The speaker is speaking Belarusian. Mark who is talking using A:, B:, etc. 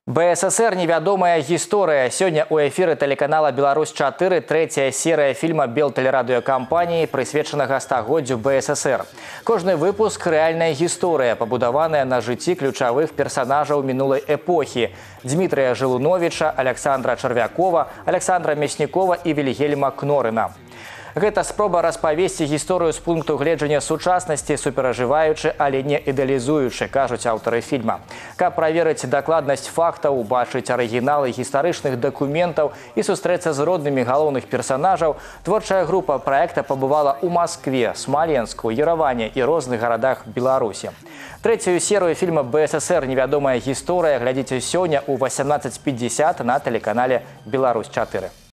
A: БССР «Невядомая гісторыя». Сегодня у эфиры телеканала «Беларусь-4» третья серия фильма белтэлерадыёкампаніі, прысвечанага стагоддзю БССР. Кожны выпуск – реальная гісторыя, пабудаваная на жыцці ключавых персонажаў мінулай эпохі. Дмітрия Жылуновича, Александра Чарвякова, Александра Мяснікова и Вильгельма Кнорына. Гэта спроба распавесці гісторыю з пункту гледжання сучаснасці, суперажываючы, але не ідэалізуючы, кажуць аўтары фільма. Каб праверыць дакладнасць фактаў, убачыць арыгіналы гістарычных дакументаў і сустрэцца з роднымі галоўных персонажаў, творчая група праекта пабывала ў Маскве, Смаленску, Ерэване і розных гарадах Беларусі. Третью серию фильма «БССР. Невядомая гісторыя» глядзіце сёння ў 18:50 на телеканале «Беларусь-4».